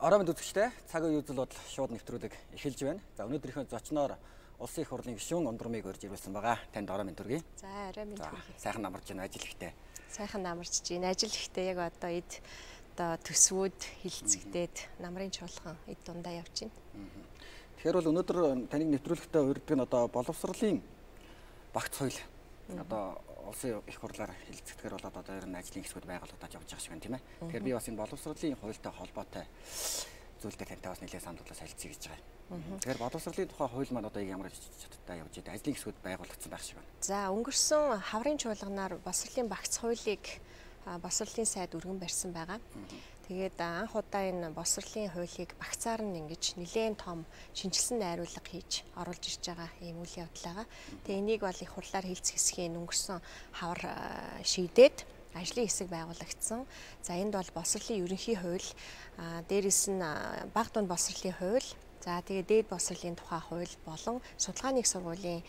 Орой мэнд үзэгчтэй цаг үеийн үзэл бодол шууд нэвтрүүлэг эхэлж байна. За өнөөдрийнхөө зочноор Улсын их хурлын гишүүн Ундурмыг урьж ирүүлсэн байгаа. Танд орой мэнд төргий. За орой мэнд төргий. Сайхан намарч байна ажил ихтэй. Сайхан намарч байна. Ажил ихтэй яг одоо эд одоо төсвүүд хилцэгдээд намрын чуулган эд дундаа явж байна. Тэгэхээр бол өнөөдөр таныг нэвтрүүлэгтээ урьддаг нь одоо боловсролын багц соёл одоо улсын их хурлаар хилцэгдэхээр бол одоо ер нь ажлын хэсгүүд байгуулагдаж явж байгаа шиг байна тийм ээ. Тэгэхээр би бас энэ боловсролын хуультай холбоотой зүйл дээр тантай бас нэлээд сануулгаас харилцъя гэж байгаа юм. Тэгэхээр боловсролын тухай хууль маань одоо ямар чадтай явж байгаа ажлын хэсгүүд байгуулагдсан байх шиг байна. За өнгөрсөн хаврын чуулганаар боловсролын багц хуулийг боловсролын сайд өргөн барьсан байгаа. Тэгээд анх удаа энэ боловсролын хуулийг багцаар нь ингэж нэлээд том шинжилсэн найруулга хийж оруулж ирж байгаа ийм үйл явдал байгаа. Тэгээд энийг бол их хурлаар хилцэх хэсгийн өнгөрсөн хавар шийдээд ажлын хэсэг байгуулагдсан. За энд бол боловсролын ерөнхий хууль, дээрээс нь бага дунд боловсролын хууль, за тэгээд дээд боловсролын тухай хууль болон судалгааны их сургуулийн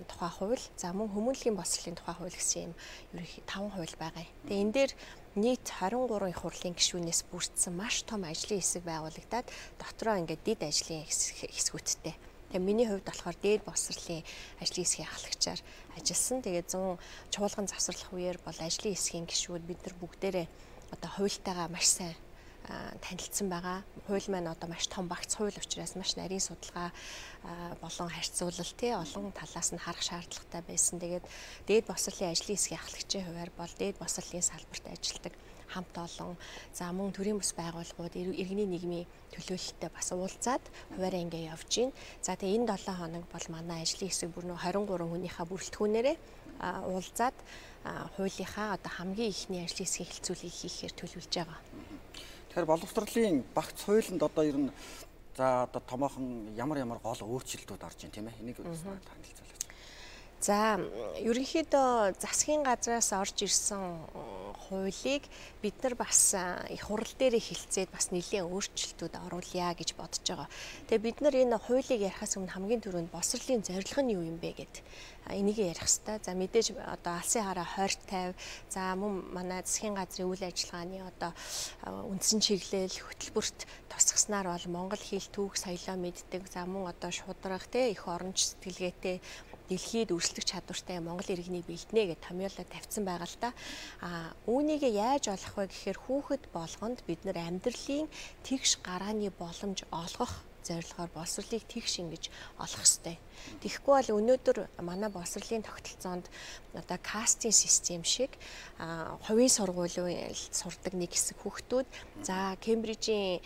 тухай хууль, за мөн хүмүүнлэгийн боловсролын тухай хууль гэсэн юм ерөнхий 5 хууль байгаа. Тэгээд энэ дээр нийт 23 их хурлын гишүүнээс бүрдсэн маш том ажлын хэсэг байгуулагдаад дотроо ингээд дэд ажлын хэсгүүдтэй. Тэгээ миний хувьд болохоор дээд боловсролын ажлын хэсгийн ахлагчаар ажилласан. Тэгээд 100 чуулган завсарлах үеэр бол ажлын хэсгийн гишүүд бид нар бүгдээрээ одоо хуультайгаа маш сайн танилцсан байгаа. Хууль маань одоо маш том багц хууль учраас маш нарийн судалгаа болон харьцуулал олон талаас нь харах шаардлагатай байсан. Тэгээд дээд боловсролын ажлын хэсгийн ахлагчийн хувьар бол дээд боловсролын салбарт ажилладаг хамт олон за мөн төрийн бас байгууллагууд иргэний нийгмийн төлөөлөлтөд бас уулзаад хуваараа ингээ явж байна. За тэгээ энэ 7 хоног бол манай ажлын хэсэг бүр 23 хүнийхээ бүрэлдэхүүнээрээ уулзаад хуулийнхаа одоо хамгийн ихний ажлын хэсгийн хэлцүүлгийг хийхээр төлөвлөж байгаа. Тэгэхээр боловсролын багц хуулинд одоо ер нь за одоо томоохон ямар гол өөрчлөлтүүд орж байна тийм ээ. Энийг танилцуулаач. За ерөнхийдөө засгийн газраас орж ирсэн хуулийг бид нар бас их хурл дээр хилцээд бас нэлээд өөрчлөлтүүд оруулъя гэж бодож байгаа. Тэгээ бид нар энэ хуулийг ярихаас өмнө хамгийн түрүүнд боловсролын зорилго нь юу юм бэ гэд энийг ярих хэрэгтэй. За мэдээж одоо алсын хараа хойрт тавь, за мөн манай засгийн газрын үйл ажиллагааны одоо үндсэн чиглэл хөтөлбөрт тусгаснаар бол Монгол хэл түүх соёлоо мэддэг, за мөн одоо шударга их оронч сэтгэлгээтэй дэлхийд өрсөлдөх чадвартай Монгол иргэнийг бэлднэ гэж томьёолоо тавьсан байгаа л да. Үүнийг яаж олох вэ гэхээр хүүхэд болгонд бид нар амьдралын тэгш гарааны боломж олгох зорилгоор боловсролыг тэгш ингэж олох ёстой. Тэгэхгүй бол өнөөдөр манай боловсролын тогтолцоонд одоо кастинг систем шиг хувийн сургуулиуд сурдаг нэг хэсэг хүүхдүүд, за Кембрижийн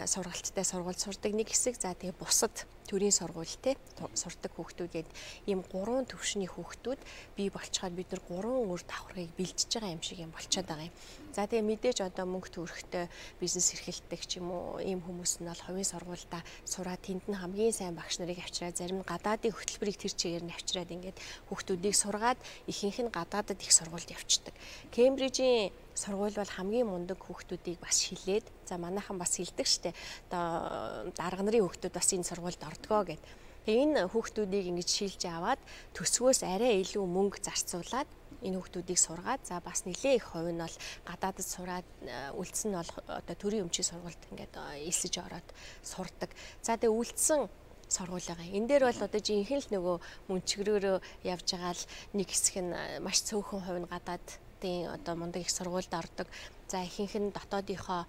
сургалттай сургуульд сурдаг нэг хэсэг, за тэгээ бусад төрийн сургуультай сурдаг хүүхдүүгээд ийм 3 төвшний хүүхдүүд бий болчиход бид нар 3 өөр давхаргыг бэлдэж байгаа юм шиг юм болчиход байгаа юм. За тэгээ мэдээж одоо мөнгө төрөхтэй бизнес эрхэлдэг ч юм уу ийм хүмүүс нь бол хувийн сургуультай сураад тэнд нь хамгийн сайн багш нарыг авчираад зарим нь гадаадын хөтөлбөрийг тэр чигээр нь авчираад ингээд хүүхдүүдийг сургаад ихэнх нь гадаадад их сургуульд явчихдаг. Кембрижийн сургууль бол хамгийн мундаг хүүхдүүдийг бас шилээд, за манайхан бас хилдэг штэ. Одоо дарга нарын хүүхдүүд бас энэ сургуульд ордгоо гэд. Тэгээ энэ хүүхдүүдийг ингэж шилж аваад төсвөөс арай илүү мөнгө зарцуулаад энэ хүүхдүүдийг сургаад, за бас нэлээ их хувь нь бол гадаадд сураад үлдсэн нь бол одоо төрийн өмчийн сургуульд ингээд элсэж ороод сурдаг. За тэгээ үлдсэн сургууль байгаа. Энэ дээр бол одоо жинхэнэ л нөгөө мөнчгөрөөрөө явж байгаа л нэг хэсэг нь маш цөөхөн хувь нь гадаадын одоо мундаг их сургуульд ордог. За ихэнх нь дотоодынхоо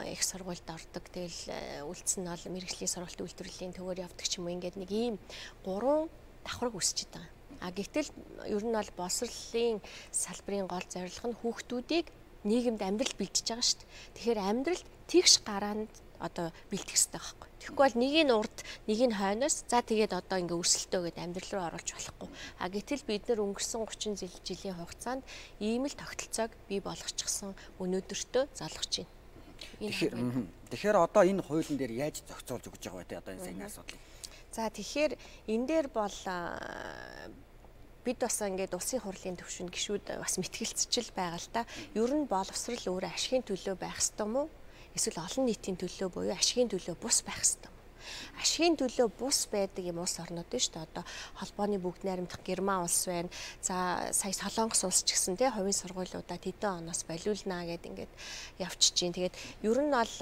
их сургуульд ордог. Тэгэл үлдсэн нь бол мэргэжлийн сургалт үйлдвэрлэлийн төвөөр явдаг ч юм уу. Ингээд нэг ийм 3 давхарг үсчихэд байгаа. Гэтэл ер нь бол боловсролын салбарын гол зорилго нь хүүхдүүдийг нийгэмд амьдрал бэлдэж байгаа шүү дээ. Тэгэхээр амьдралд тэгш гараанд одоо бэлдэх хэрэгтэй байхгүй. Тэгэхгүй бол нэг нь урд, нэг нь хойноос за тэгээд одоо ингээ өрсөлтөө гэдэг амьдрал руу оруулж болохгүй. Гэтэл бид нар өнгөрсөн 30 жилийн хугацаанд ийм л тогтолцоог бий болгочихсон өнөөдөртөө залгаж байна. Тэгэхээр одоо энэ хуулийн дээр яаж зохицуулж өгч байгаа вэ те одоо энэ саяны асуудлыг. За тэгэхээр энэ дээр бол бид бас ингээд улсын хурлын төвшөнд гишүүд бас мэтгэлцэж байгаа л та. Ер нь боловсрол өөрөө ашигын төлөө байх ёстой юм уу? Эсвэл олон нийтийн төлөө буюу ашигын төлөө бус байх ёстой юм. Ашигын төлөө бус байдаг юм улс орнууд нь шүү дээ. Одоо холбооны бүгд найрамдах Герман улс байна. За сая Солонгос улс ч гэсэн тий хувийн сургуулиудаа тэдэн оноос болиулнаа гэд ингээд явчихж байна. Тэгээд ер нь бол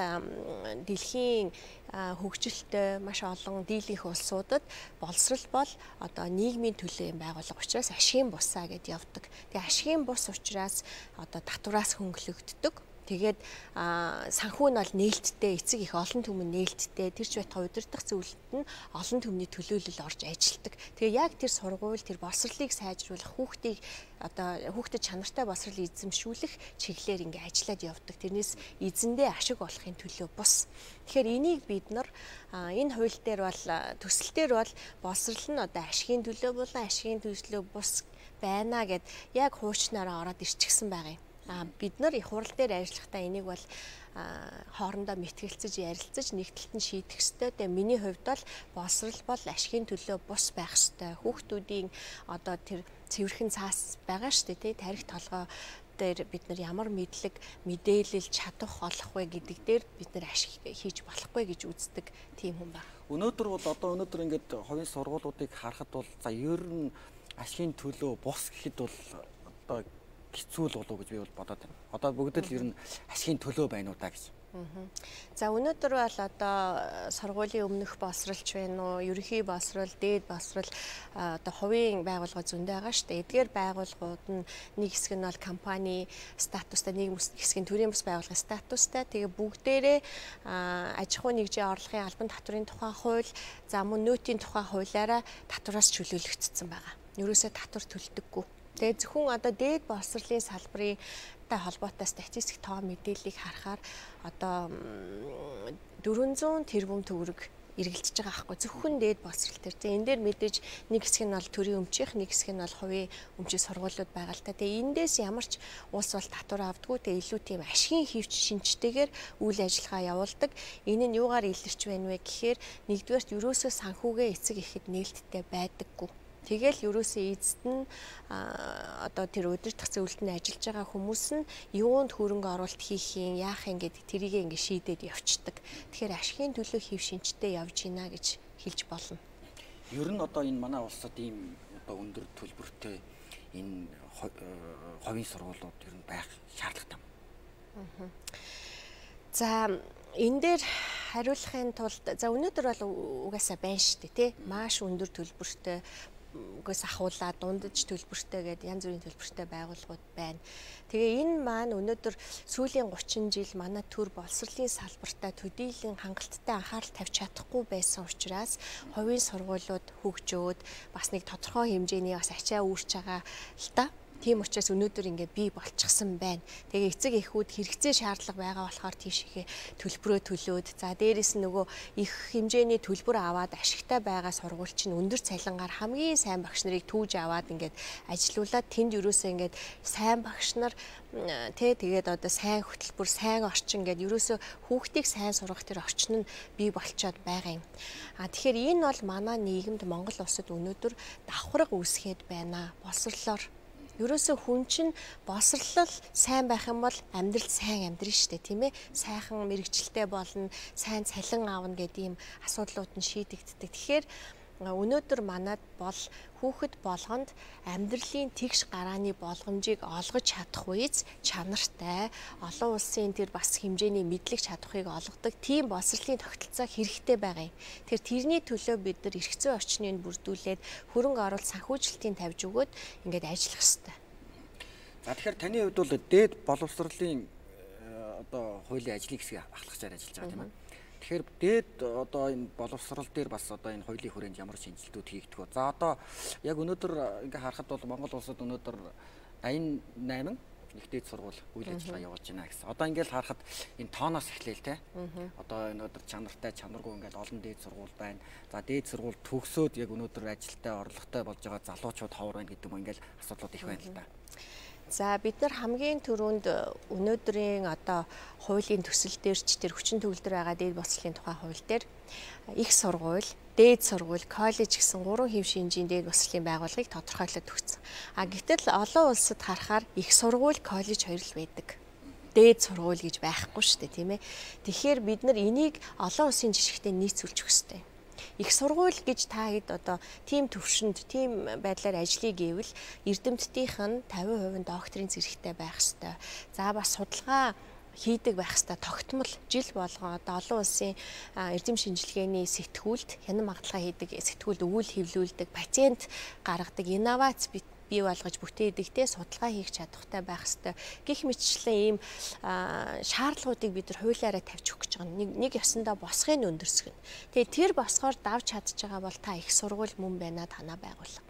дэлхийн хөгжилтэй маш олон дийлэнх улсуудад боловсрал бол одоо нийгмийн төлөө юм байгуулга учраас ашигын бусаа гэд явдаг. Тэгээ ашигын бус учраас одоо татвараас хөнгөлөгддөг. Тэгээд санхүү нь бол нээлттэй, эцэг их олон түмэн нээлттэй, тэр ч байтугай удирдах зөвлөлд нь олон түмний төлөөлөл орж ажилладаг. Тэгээ яг тэр сургууль, тэр боловсролыг сайжруулах, хүүхдэд чанартай боловсрол эзэмшүүлэх чиглэлээр ингээ ажиллаад явдаг. Тэрнээс эзэндээ ашиг олохын төлөө бус. Тэгэхээр энийг бид нар энэ хууль дээр бол төсөл дээр бол боловсрол нь одоо ашигын төлөө болон ашигын төлөө бус байна гэд яг хуучнаараа ороод ирчихсэн байгаа юм. Бид нар их хурал дээр ажиллахдаа энийг бол хоорондоо мэтгэлцэж ярилцаж нэгдэлт нь шийдэх ёстой. Тэгээ миний хувьд бол боловсрол бол ашигын төлөө бус байх ёстой. Хүүхдүүдийн одоо тэр цэвэрхэн цаас байгаа шүү дээ, тий, тарих толгой дээр бид нар ямар мэдлэг, мэдээлэл чадах олох вэ гэдэг дээр бид нар ашиг хийж болохгүй гэж үздэг тийм хүн байна. Өнөөдөр ингээд хувийн сургуулиудыг харахад бол за ер нь ашигын төлөө бус гэхэд бол одоо хэцүү л болов гэж би бол бодоод байна. Одоо бүгд л ер нь ашигын төлөө байна уу та гэж. За өнөөдөр бол одоо сургуулийн өмнөх боловсролч байна уу, ерөнхий боловсрол, дээд боловсрол одоо хувийн байгууллага зөндөө байгаа шүү дээ. Эдгээр байгууллагууд нь нэг хэсэг нь бол компани статустай, нэг хэсэг нь төрийн бас байгууллагын статустай. Тэгээ бүгдээрээ аж ахуй нэгжийн орлогын албан татврын тухай хууль, за мөн нөөтийн тухай хуулиараа татвараас чөлөөлөгдсөн байгаа. Ерөөсөө татвар төлдөггүй. Тэгээ зөвхөн одоо дээд боловсролын салбарын холбоотой статистик тоо мэдээллийг харахаар одоо 400 тэрбум төгрөг эргэлдэж байгаа аахгүй зөвхөн дээд боловсрол төр. Тэгээ энэ дээр мэдээж нэг хэсэг нь бол төрийн өмчийнх, нэг хэсэг нь бол хувийн өмчийн сургуулиуд байгаа л та. Тэгээ эндээс ямар ч улс бол татвар авдаггүй. Тэгээ илүү тийм ашигын хэвч шинжтэйгээр үйл ажиллагаа явуулдаг. Энэ нь юугаар илэрч байна вэ гэхээр нэгдүгээрт ерөөсөө санхүүгээ эцэг ихэд нээлттэй байдаггүй. Тэгэл ерөөсөө эзэд нь одоо тэр удирдах зөвлөлтөнд ажиллаж байгаа хүмүүс нь юунд хөрөнгө оруулалт хийх юм, яах юм гэдэг тэрийг ингэ шийдээд явцдаг. Тэгэхээр ашигын төлөө хэв шинжтэй явж гинэ гэж хэлж болно. Ер нь одоо энэ манай улсад ийм одоо өндөр төлбөртэй энэ хувийн сургуулиуд ер нь байх шаардлагатай юм. За энэ дээр хариулахын тулд за өнөөдөр бол угаасаа байна шүү дээ, тий? Маш өндөр төлбөртэй үгээс ахуулаад дундаж төлбөртэй гэдэг янз бүрийн төлбөртэй байгууллагууд байна. Тэгээ энэ маань өнөөдөр сүүлийн 30 жил манай төр боловсролын салбартаа төдийлөн хангалттай анхаарал тавьж чадахгүй байсан учраас хувийн сургуулиуд хөгжөөд бас нэг тодорхой хэмжээний бас ачаа үүрч байгаа л та. Тийм учраас өнөөдөр ингээд бий болчихсон байна. Тэгээ эцэг эхүүд хэрэгцээ шаардлага байгаа болохоор тийш ихе төлбөрөө төлөөд за дээрэс нь нөгөө их хэмжээний төлбөр аваад ашигтай байгаа сургууль чинь өндөр цалингаар хамгийн сайн багш нарыг түүж аваад ингээд ажилуулад тэнд ерөөсөө ингээд сайн багш нар тэгээд одоо сайн хөтөлбөр, сайн орчин гэдэг ерөөсөө хүүхдийг сайн сургах тэр орчин нь бий болчиход байгаа юм. Тэгэхээр энэ бол манай нийгэмд Монгол улсад өнөөдөр давхарга үүсгээд байна. Боловсрлоор ерөөсөө хүн чинь боловсрлол сайн байх юм бол амьдрал сайн амьдрын шүү дээ, тийм ээ. Сайхан мэрэгчлээ болно, сайн цалин аавна гэдэг ийм асуудлууд нь шийдэгддэг. Тэгэхээр өнөөдөр манад бол хүүхэд болгонд амьдралын тэгш гарааны болгоомжийг олгож чадах үеэс чанартай олон улсын тэр бас хэмжээний мэдлэг чадахыг олгодог тийм боловсролын тогтолцоо хэрэгтэй байгаа юм. Тэгэхээр тэрний төлөө бид нар эрх зүйн орчныг бүрдүүлээд хөрөнгө оруулалт санхүүжилтийг тавьж өгөөд ингээд ажиллах хэрэгтэй. За тэгэхээр таны хувьд бол дээд боловсролын одоо хуулийн ажлын хэсгийг ахлагчаар ажиллаж байгаа тийм ээ. Тэгэхээр дээд одоо энэ боловсрол дээр бас одоо энэ хуулийн хүрээнд ямар шинжилтүүд хийгдэх вэ? За одоо яг өнөөдөр ингээ харахад бол Монгол улсад өнөөдөр 88 их дээд сургууль үйл ажиллагаа явуулж байна гэсэн. Одоо ингээл харахад энэ тооноос эхлээл те. Одоо өнөөдөр чанартай, чанаргүй ингээл олон дээд сургууль байна. За дээд сургууль төгсөөд яг өнөөдөр ажилтай, орлоготой болж байгаа залуучууд ховор байна гэдэг юм ингээл асуудлууд их байна л да. За бид нар хамгийн түрүүнд өнөөдрийн одоо хуулийн төсөл дээр ч тэр хүчин төгөлдөр байгаа дээд боловсролын тухай хууль дээр их сургууль, дээд сургууль, коллеж гэсэн 3 хэв шинжийн дээд боловсролын байгууллагыг тодорхойлоод өгсөн. Гэтэл олон улсад харахаар их сургууль, коллеж хоёр л байдаг. дээд сургууль гэж байхгүй шүү дээ, тийм ээ. Тэгэхээр бид нар энийг олон улсын жишгтээ нийцүүлж өгөх хэрэгтэй. Их сургууль гэж та хэд одоо тийм төвшөнд, тийм байдлаар ажлыг гэвэл эрдэмтдийнх нь 50% докторийн зэрэгтэй байх ёстой. За бас судалгаа хийдэг байх ёстой. Тогтмол жил болгон одоо олон улсын эрдэм шинжилгээний сэтгүүлд хянан магадлага хийдэг сэтгүүлд өгүүл хэвлүүлдэг, пациент гаргадаг инновац бий болгож бүтээдэгтэй судалгаа хийх чадвартай байх ёстой. Гэх мэтчлэн ийм шаардлагуудыг бид нар хуулиараа тавьж өгч байгаа. Нэг ёсондоо босхыг өндөрсгөн. Тэгээ тэр босгоор давж чадж байгаа бол та их сургууль мөн байна, танаа байгууллага.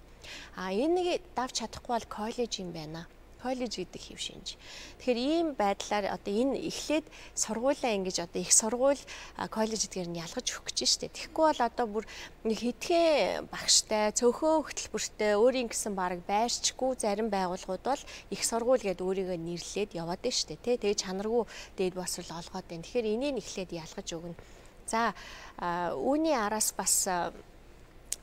Энийг давж чадахгүй бол коллеж юм байна. Коллеж гэдэг хэв шинж. Тэгэхээр ийм байдлаар одоо энэ эхлээд сургуулаа ингэж одоо их сургууль коллеж гэдгээр нь ялгаж өгөх гэж штэ. Тэгэхгүй бол одоо бүр нэг хитгэн багштай, цөөхөн хөтөлбөртэй, өөрийн гэсэн баг байрчгүй зарим байгууллагууд бол их сургууль гэдээ өөрийгөө нэрлээд яваад байна штэ. Тэгээ чанаргүй дээд боловсрол олгоод байна. Тэгэхээр энийг эхлээд ялгаж өгнө. За үүний араас бас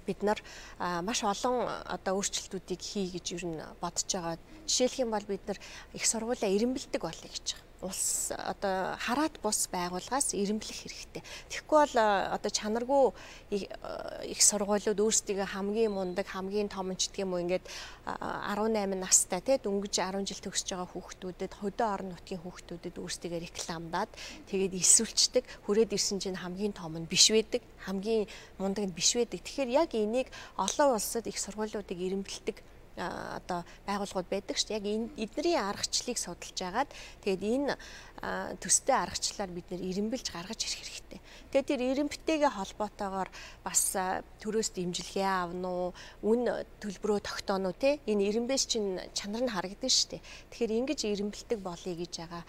бид нар маш олон одоо өөрчлөлтүүдийг хий гэж юу н бодож байгаа. Жишээлх юм бол бид нар их сургуулиа эренбэлдэг болъё гэж байгаа. Улс одоо хараат бус байгууллагаас эренблэх хэрэгтэй. Тэгэхгүй бол одоо чанаргүй их сургуулиуд өөрсдөө хамгийн мундаг, хамгийн том ч гэх юм уу ингээд 18 настай те дөнгөж 10 жил төгсөж байгаа хүүхдүүдэд хөдөө орон нутгийн хүүхдүүдэд өөрсдөө рекламдаад тэгээд илсүүлчдэг. Хүрээд ирсэн чинь хамгийн том нь биш байдаг, хамгийн мундаг нь биш байдаг. Тэгэхээр яг энийг олон улсад их сургуулиудыг эренбэлдэг одоо байгууллагууд байдаг шүү дээ. Яг эдний аргачлалыг судалж агаад тэгээд энэ төстэй аргачлалаар бид нэр эренбэлж гаргаж ирэх хэрэгтэй. Тэгээд тэр эренбтэйгээ холбоотойгоор бас төрөөс дэмжлэгээ авна уу, үн төлбөрөө тогтооно уу те. Энэ эренбэс чинь чанар нь харагдана шүү дээ. Тэгэхээр ингэж эренбэлдэг болъё гэж байгаа.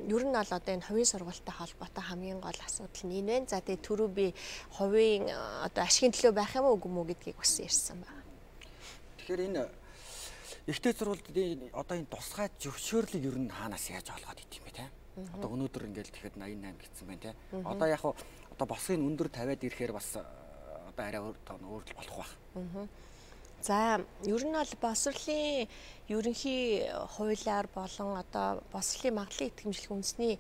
Ер нь бол одоо энэ хувийн сургуультай холбоотой хамгийн гол асуудал нь энэ байна. За тэгээд түрүү би хувийн одоо ашигын төлөө байх юм уу үгүй мүү гэдгийг бас ярьсан байна. Тэгэхээр энэ ихтэй сургуулийн одоо энэ тусгай зөвшөөрлийг ер нь хаанаас яаж олгоод идэв юм бэ те? Одоо өнөөдөр ингээд тэгэхэд 88 гэсэн байна те. Одоо яг одоо босгыг өндөр тавиад ирэхээр бас одоо арай өөр болох байх. За ер нь бол боловсролын ерөнхий хуулиар болон одоо боловсролын магадлалын итгэмжлэх үндэсний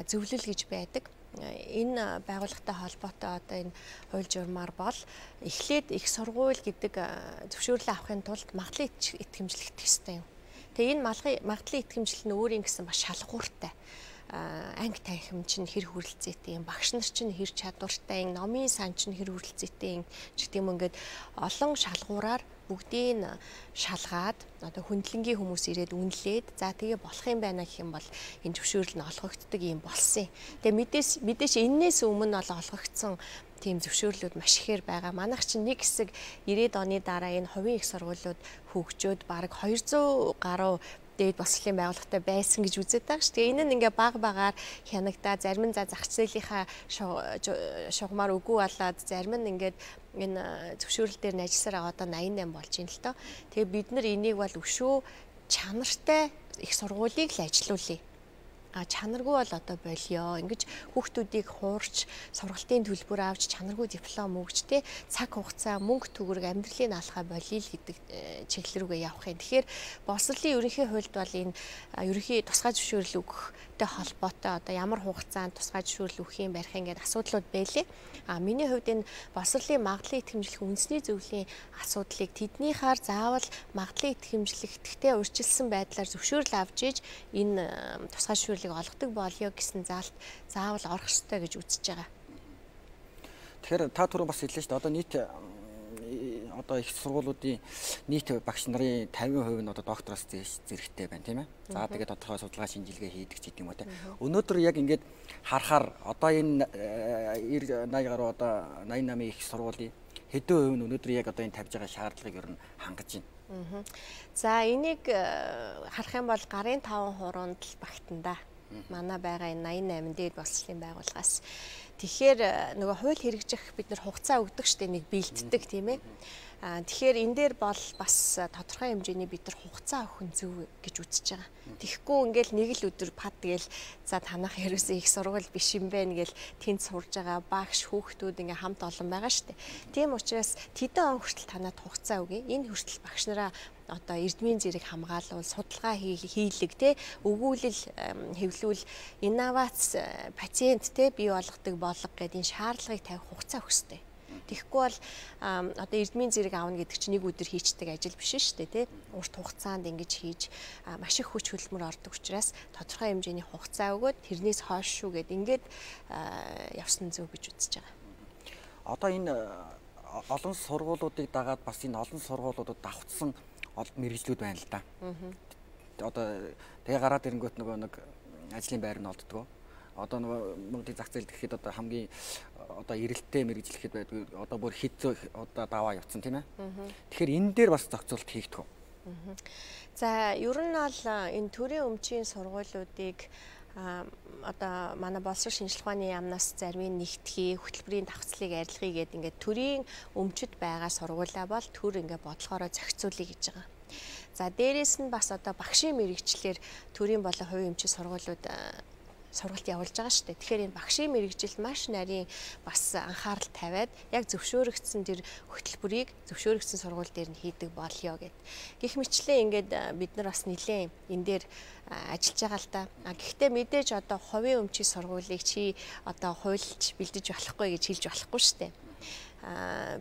зөвлөл гэж байдаг. Энэ байгууллагатай холбоотой одоо энэ хууль журмаар бол эхлээд их сургууль гэдэг зөвшөөрлөө авахын тулд магадлалын итгэмжлэх ёстой юм. Тэгээ энэ магадлалын итгэмжлэл нь өөрийн гэсэн маш шалгууртай. Анги танхим чинь хэр хүрэлцээтэй юм, багш нар чинь хэр чадвартай юм, номын сан чинь хэр хүрэлцээтэй юм гэдэг юм. Ингээд олон шалгуураар бүгдийг шалгаад одоо хүндлэнгийн хүмүүс ирээд үнэлээд за тэгээ болох юм байна гэх юм бол энэ зөвшөөрөл нь олгогддог юм болсон. Тэгээ мэдээж энээс өмнө бол олгогдсон тийм зөвшөөрлүүд маш ихээр байгаа. Манайх чинь нэг хэсэг 90-ад оны дараа энэ хувийн их сургуулиуд хөгжөөд бараг 200 гаруй дээд боловсролын байгууллагатай байсан гэж үздэг шүү. Тэгээ энэ нь ингээ баг багаар хянагдаа, зарим нь зах зээлийнхаа шугамар үгүй болоод, зарим нь ингээд энэ зөвшөөрөл дээр нь ажилласараа одоо 88 болж байна л тоо. Тэгээ бид нар энийг бол өшөө чанартай их сургуулийг л ажилуулъя. Чанаргүй бол одоо болио. Ингэж хүүхдүүдийг хуурч, сургалтын төлбөр авч, чанаргүй диплом өгч те цаг хугацаа, мөнгө төгрөг амьдралыг алхаа болиё л гэдэг чиглэл рүүгээ явах юм. Тэгэхээр боловсролын ерөнхий хуульд бол энэ ерөнхий тусгай зөвшөөрөл өгөхтэй холбоотой одоо ямар хугацаанд тусгай зөвшөөрөл өгөх юм барих ингээд асуудлууд байлээ. Миний хувьд энэ боловсролын магадлалын итгэмжлэх үндэсний зөвлөлийн асуудлыг тэднийхаар заавал магадлалын итгэмжлэхтэй урьдчилсан байдлаар зөвшөөрөл авч иж энэ тусгай зөвшөөрөл олгодог болёо гэсэн заалт заавал орох ёстой гэж үзэж байгаа. Тэгэхээр та түрүү бас хэллээ шүү дээ. Одоо нийт одоо их сургуулиудын нийт багш нарын 50% нь одоо доктороос зэрэгтэй байна тийм ээ. За тэгээд тодорхой судалгаа шинжилгээ хийдэг ч гэдэм үү те. Өнөөдөр яг ингээд харахаар одоо энэ 80 гаруй одоо 88 их сургуулийн хэдэн хувь нь өнөөдөр яг одоо энэ тавьж байгаа шаардлагыг ер нь хангаж байна. За энийг харах юм бол гарын 5% л багтана да. Манай байгаа энэ 88 дээд боловсролын байгууллагаас. Тэгэхээр нөгөө хууль хэрэгжих бид нар хугацаа өгдөг штеп нэг бэлддэг тийм ээ. Тэгэхээр энэ дээр бол бас тодорхой хэмжээний бид нар хугацаа өгөх нь зөв гэж үзэж байгаа. Тэгэхгүй ингээл нэг л өдөр пад гээл за танах ерөөсөө их сургууль биш юм байна гээл тэнд сурж байгаа багш хүүхдүүд ингээ хамт олон байгаа штеп. Тийм учраас тэдэн он хүртэл танад хугацаа өгье. Энэ хүртэл багш нараа одоо эрдмийн зэрэг хамгаалал, судалгаа хийлэг те өгүүлэл хэвлүүл инновац пациент те бий болгодог болго гэдэг энэ шаардлагыг тавих хугацаа өгөх ёстой. Тэгэхгүй бол одоо эрдмийн зэрэг аавна гэдэг чинь нэг өдөр хийчдэг ажил биш шүү дээ тий. Урт хугацаанд ингэж хийж маш их хүч хөдөлмөр ордог учраас тодорхой хэмжээний хугацаа өгөөд тэрнээс хойш шүү гэд ингээд явсан зөв гэж үзэж байгаа. Одоо энэ олон сургуулиудыг дагаад бас энэ олон сургуулиудад давхцсан мэргэжлүүд байна л да. Одоо тэгээ гараад ирэнгүүт нөгөө нэг ажлын байр нь олддгоо. Одоо нөгөө Монголын зах зээл гэхэд одоо хамгийн одоо эрэлттэй мэргэжлэхэд байдаг. Одоо бүр хэд одоо даваа явцсан тийм ээ. Тэгэхээр энэ дээр бас зохицуулт хийгдэх үү? За ер нь бол энэ төрийн өмчийн сургуулиудыг одоо манай боловсрол шинжилгээ ухааны яамнаас зарим нь нэгтгэхий, хөтөлбөрийн давхцлыг арилгахыг гэдэг ингээд төрийн өмчөд байгаа сургуулаа бол төр ингээд бодлохороо зохицуулъя гэж байгаа. За дээрэс нь бас одоо багшийн мэргэжлэр төрийн болон хувийн өмчийн сургуулиуд сургалт явуулж байгаа шүү дээ. Тэгэхээр энэ багшийн мэргэжилд маш нарийн бас анхаарал тавиад яг зөвшөөрөгдсөн тэр хөтөлбөрийг зөвшөөрөгдсөн сургууль дээр нь хийдэг болёо гэд. Гэх мэтлээ ингээд бид нар бас нэлээд энэ дээр ажиллаж байгаа л да. Гэхдээ мэдээж одоо хувийн өмчийн сургуулийг чи одоо хуульч бэлдэж болохгүй гэж хэлж болохгүй шүү дээ.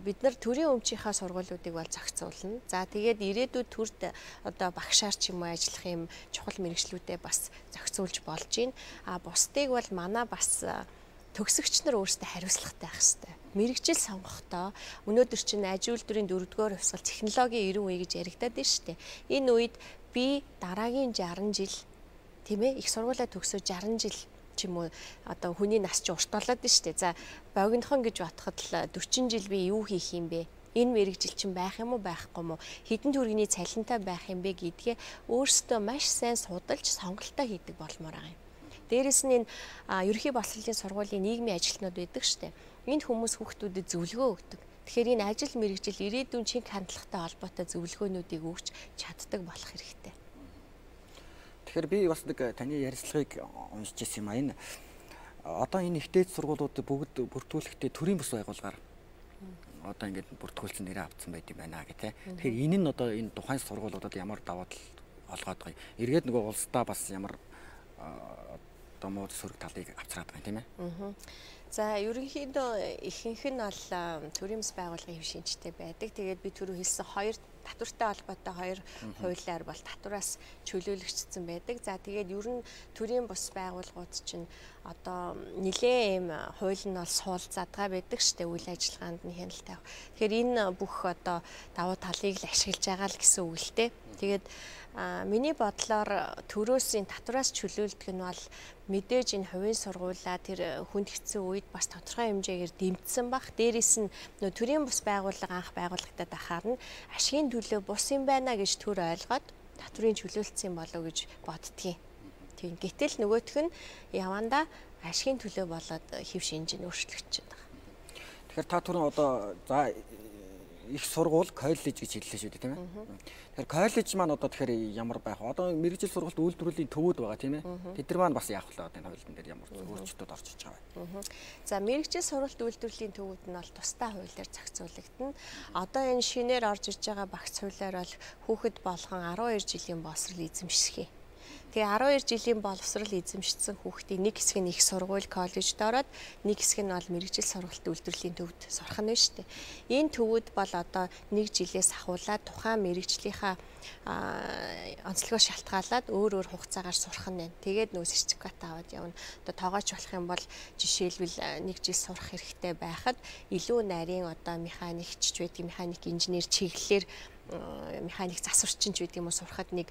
Бид нар төрийн өмчийнхаа сургуулиудыг бол зохицуулна. За тэгээд ирээдүйд төрд одоо багшаар ч юм уу ажиллах юм чухал мэргэжлүүдэд бас зохицуулж болж байна. Бусдыг бол манай бас төгсөгч нар өөрсдөө хариуцлагатай байх хэрэгтэй. Мэргэжил сонгохдоо өнөөдөр чинь аж үйлдвэрийн 4-р хувьсгал технологийн 90 үе гэж яригадаад байна шүү дээ. Энэ үед би дараагийн 60 жил тийм ээ их сургуулаа төгсөө 60 жил ч юм уу одоо хүний нас ч урт болоод байна шүү дээ. За богинохон гэж батхад л 40 жил би юу хийх юм бэ? Энэ мэргэжил чинь байх юм уу байхгүй юм уу? Хэдэн төгрөгийн цалинтай байх юм бэ гэдгээ өөрсдөө маш сайн судалж сонголтоо хийдэг болмоор байгаа юм. Дээрэс нь энэ ерөнхий боловсролын сургуулийн нийгмийн ажилтнууд байдаг шүү дээ. Энэ хүмүүс хүүхдүүдэд зөвлөгөө өгдөг. Тэгэхээр энэ ажил мэргэжил ирээдүйн шинэ хандлагатай холбоотой зөвлөгөөнүүдийг өгч чаддаг болох хэрэгтэй. Тэгэхээр би бас нэг таны ярилцлагыг уншиж ирсэн юм а. Энэ одоо энэ ихтэй сургуулиуд бүгд бүртгүүлэхдээ төрийн бус байгууллагаар одоо ингээд бүртгүүлсэн нэрээ авцсан байт юм байна гэх тээ. Тэгэхээр энэ нь одоо энэ тухайн сургуулиудад ямар даваа тал олгоод байгаа юм. Эргээд нөгөө улсдаа бас ямар одоо муу сөрөг талыг авчраад байгаа юм тийм ээ. За ерөнхийдөө ихэнх нь бол төрийн бус байгууллагын хэв шинжтэй байдаг. Тэгээд би түрүү хэлсэн хоёр татвартай холбоотой хоёр хуулиар бол татвараас чөлөөлөгдсөн байдаг. За тэгээд ер нь төрийн бус байгууллагууд чинь одоо нэлээд ийм хууль нь бол суул задгаа байдаг штэ үйл ажиллагаанд нь хяналт тавих. Тэгэхээр энэ бүх одоо давуу талыг л ашиглаж байгаа л гэсэн үг л дээ. Тэгээд миний бодлоор төрөөсийн татвараас чөлөөлдөг нь бол мэдээж энэ хувийн сургуулаа тэр хүнд хэцүү үед бас тодорхой хэмжээгээр дэмжсэн баг. Дээрээс нь төрийн бус байгууллага анх байгуулагдаад ахаар нь ашигын төлөө бус юм байна гэж төр ойлгоод татврын чөлөөлсөн болов уу гэж боддгийг. Тийм. Гэтэл нөгөөх нь явандаа ашигын төлөө болоод хэв шинж нь өөрчлөгдөж байна. Тэгэхээр та түрүүн одоо за их сургууль коллеж гэж хэллээ шүү дээ тийм ээ. Тэгэхээр коллеж маань одоо тэгэхээр ямар байх вэ? Одоо мэргэжил сургалт үйлдвэрлэлийн төвүүд байгаа тийм ээ. Тэд нар маань бас яах вэ? Энэ хуулийн дээр ямар өөрчлөлтүүд орж иж байгаа вэ? За мэргэжил сургалт үйлдвэрлэлийн төвүүд нь бол тусдаа хуулиар зохицуулагдана. Одоо энэ шинээр орж иж байгаа багц хуулиар бол хүүхэд болгон 12 жилийн боловсрол эзэмших юм. Тэгээ 12 жилийн боловсрол эзэмшсэн хүүхдийн нэг хэсэг нь их сургууль коллежд ороод нэг хэсэг нь бол мэргэжил сургалт үйлдвэрлэлийн төвд сурах нь шүү дээ. Энэ төвүүд бол одоо нэг жилээс ахуулаад тухайн мэргэжлийнхаа онцлогоо шалтгаалаад өөр хугацаагаар сурах нь байна. Тэгээд нөө сертификат аваад явна. Одоо тоогооч болох юм бол жишээлбэл нэг жил сурах хэрэгтэй байхад илүү нарийн одоо механикч ч байдаг, механик инженер чиглэлээр механик засварчин ч байдаг юм уу сурахад нэг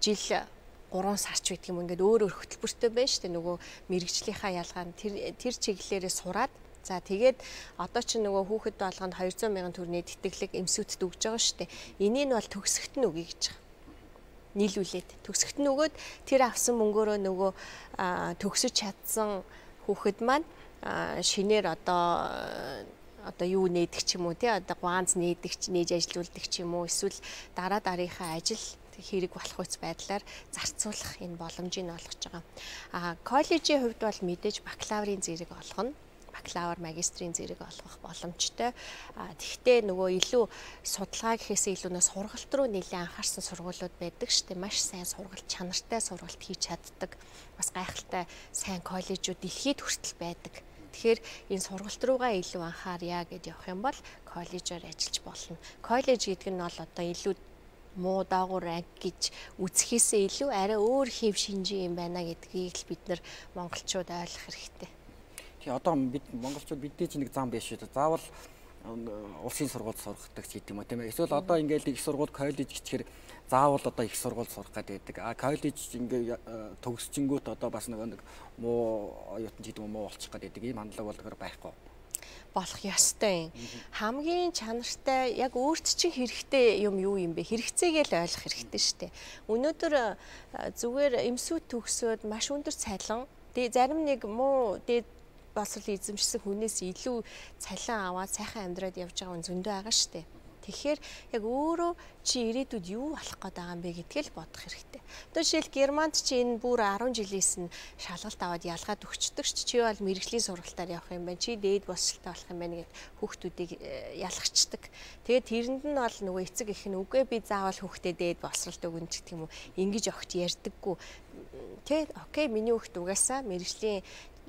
жил 3 сарч байдаг юм ингээд өөр хөтөлбөртэй байна шүү дээ. Нөгөө мэргэжлийнхаа ялгаа нь тэр чиглэлээрээ сураад за тэгээд одоо ч нөгөө хүүхэд болгонд 200 мянган төгрөгийн тэтгэлэг эмсүүтэд өгж байгаа шүү дээ. Энийг нь бол төгсгөлт нь өгье гэж байгаа. Нийлүүлээд төгсгөлт нь өгөөд тэр авсан мөнгөөрөө нөгөө төгсөж чадсан хүүхэд маань шинээр одоо юу нээдэг ч юм уу тий одоо ганц нээдэг ч нээж ажилуулдаг ч юм уу эсвэл дараагийнхаа ажил хэрэг болох үс байдлаар зарцуулах энэ боломжийг олгож байгаа. Коллежийн хувьд бол мэдээж бакалаврын зэрэг олгоно. бакалавр, магистрийн зэрэг олгох боломжтой. Тэгвэл нөгөө илүү судалгаа гэхээсээ илүү нөө сургалт руу нэлээд анхаарсан сургуулиуд байдаг шүү дээ. Маш сайн сургалт, чанартай сургалт хийж чаддаг. Бас гайхалтай сайн коллежууд дэлхийд хүртэл байдаг. Тэгэхээр энэ сургалт руугаа илүү анхаарья гэд явах юм бол коллежоор ажиллаж болно. Коллеж гэдэг нь бол одоо илүү муу даагуур анги гэж үзэхээсээ илүү арай өөр хэв шинжийн юм байна гэдгийг л бид нар монголчууд ойлгох хэрэгтэй. Тэгээ одоо бид монголчууд бидний чинь нэг зам биш үү? Заавал улсын сургууль сурахдаг ч гэдэг юм уу тийм ээ. Эсвэл одоо ингээл их сургууль коллеж гэчихэр заавал одоо их сургууль сурах гэдэг. Коллеж ингээ төгсчингүүт одоо бас нэг муу оюутан ч гэдэг юм уу болчих гэдэг ийм хандлага бол байхгүй. Болох ёстой юм. Хамгийн чанартай яг өөрт чинь хэрэгтэй юм юу юм бэ? Хэрэгцээгээ л ойлгох хэрэгтэй шүү дээ. Өнөөдөр зүгээр эмсүүд төгсөөд маш өндөр цалин, зарим нэг муу дээд боловсрол эзэмшсэн хүнээс илүү цалин аваад сайхан амьдраад явж байгаа хүн зөндөө байгаа шүү дээ. Тэгэхээр яг өөрөө чи ирээдүйд юу болох гээд байгаа юм бэ гэдгийг л бодох хэрэгтэй. Одоо жишээл Германд чи энэ бүр 10 жилээс нь шалгалт аваад ялгаад өгчдөг чи бол мэрэгжлийн сургалтаар явах юм байна. Чи дээд босчлтаа болох юм байна гэд хүүхдүүдийг ялгачдаг. Тэгээд тэрэнд нь бол нөгөө эцэг их нь үгүй би заавал хүүхдээ дээд боловсролт өгнө гэх юм уу. Ингэж огт ярьдаггүй. Тэ окей миний хүүхд угаасаа мэрэгжлийн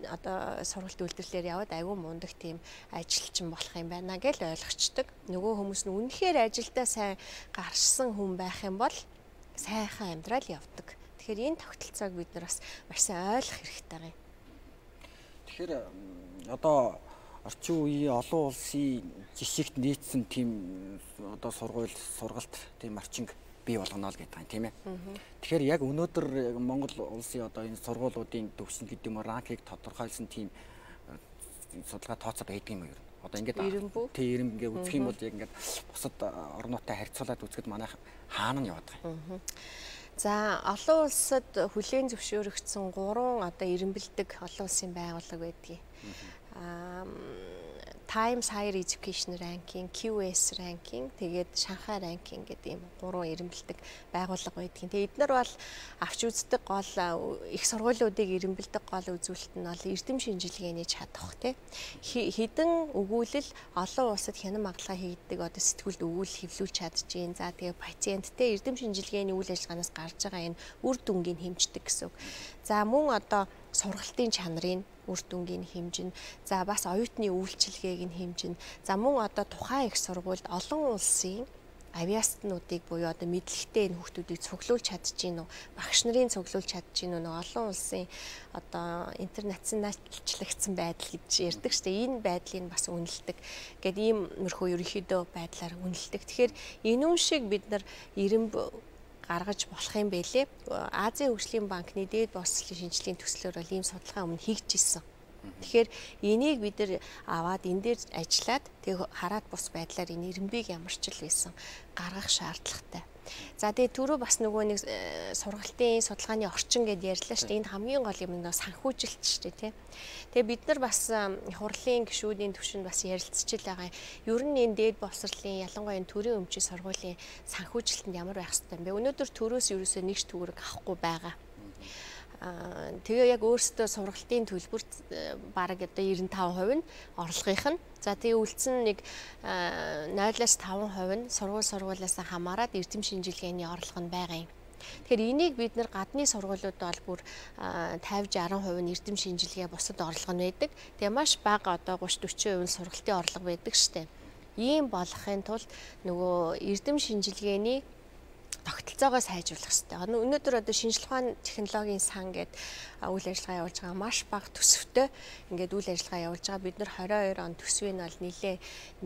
одоо сургалт үйлдвэрлэлээр яваад айгүй мундаг тийм ажилчин болох юм байна гэж ойлгочдөг. Нөгөө хүмүүс нь үнэхээр ажилдаа сайн гарсан хүн байх юм бол сайхан амьдрал явдаг. Тэгэхээр энэ тогтолцоог бид нар бас маш сайн ойлгох хэрэгтэй юм. Тэгэхээр одоо орчин үеийн олон улсын жишгт нийцсэн тийм одоо сургалт тийм орчинг бий болгоно л гэдэг юм тийм ээ. Тэгэхээр яг өнөөдөр Монгол улсын одоо энэ сургуулиудын төвшин гэдэг юм ранкийг тодорхойлсон тийм судалгаа тооцоо байдаг юм уу? Одоо ингээд тийм ингээд үзэх юм бол яг ингээд бусад орнуудтай харьцуулаад үзэхэд манай хаана нь яваад байгаа юм. За олон улсад хүлээн зөвшөөрөгдсөн 3 одоо эренбэлдэг олон улсын байгууллага байдгийг. Times Higher Education Ranking, QS Ranking, тэгээд Шанхай Ranking гэдэг ийм 3 эренбэлдэг байгууллага байдгийн. Тэгээд эдгээр бол авч үздэг гол их сургуулиудыг эренбэлдэг гол үзүүлэлт нь бол эрдэм шинжилгээний чадах тий. Хэдэн өгүүлэл олон улсад хянан магадлага хийгддэг одоо сэтгүүлд өгүүлэл хэвлүүлж чадчихээн. За тэгээд пациенттэй эрдэм шинжилгээний үйл ажиллагаанаас гарч байгаа энэ үр дүнгийг хэмждэг гэсэн үг. За мөн одоо сургалтын чанарыг үр дүнгийн хэмжин, за бас оюутны үйлчилгээг нь хэмжин. За мөн одоо тухайн их сургуульд олон улсын авиаснуудыг буюу одоо мэдлэгтэй энэ хүүхдүүдийг цуглуулж чадчихээн үү, багш нарын цуглуулж чадчихээн үү, олон улсын одоо интернационалчлагдсан байдал гэж ярьдаг шүү дээ. Энэ байдлыг бас үнэлдэг. Гэт ийм мөрхөө ерөнхийдөө байдлаар үнэлдэг. Тэгэхээр энэ шиг бид нар эренб гаргаж болох юм бэлээ. Азийн хөгжлийн банкны дээд боловсролын шинжилгээний төслөөр бол ийм судалгаа өмнө хийгдчихсэн. Тэгэхээр энийг бид нар аваад энэ дээр ажиллаад тэг хараад бус байдлаар энэ эренбийг ямар ч л байсан гаргах шаардлагатай. За тэгээ түрүү бас нөгөө нэг сургалтын судалгааны орчин гэдээ ярьлаа шүү дээ. Энд хамгийн гол юм нь санхүүжилт шүү дээ, тий. Тэгээ бид нар бас хурлын гишүүдийн түвшинд бас ярилцчихл байгаа. Ер нь энэ дээд боловсролын ялангуяа энэ төрийн өмчийн сургуулийн санхүүжилтэнд ямар байх ёстой юм бэ? Өнөөдөр төрөөс ерөөсөө нэг ч төгрөг авахгүй байгаа. Тэгээ яг өөрсдөө сургалтын төлбөрт бараг одоо 95% нь орлогынх нь. За тэгээ үлдсэн нэг 0-5% нь сургуулиас хамаарат эрдэм шинжилгээний орлого нь байгаа юм. Тэгэхээр энийг бид нар гадны сургуулиуд бол бүр 50-60% нь эрдэм шинжилгээ бусад орлого нь байдаг. Тэгээ маш бага одоо 30-40% нь сургалтын орлого байдаг штэ. Ийм болохын тулд нөгөө эрдэм шинжилгээний тогтолцоогоо сайжруулах хэрэгтэй. Өнөөдөр одоо шинжилгээ ухааны технологийн сан гэдэг үйл ажиллагаа явуулж байгаа маш бага төсөвтэй ингээд үйл ажиллагаа явуулж байгаа. Бид нар 22 он төсвийг нь бол нэлээ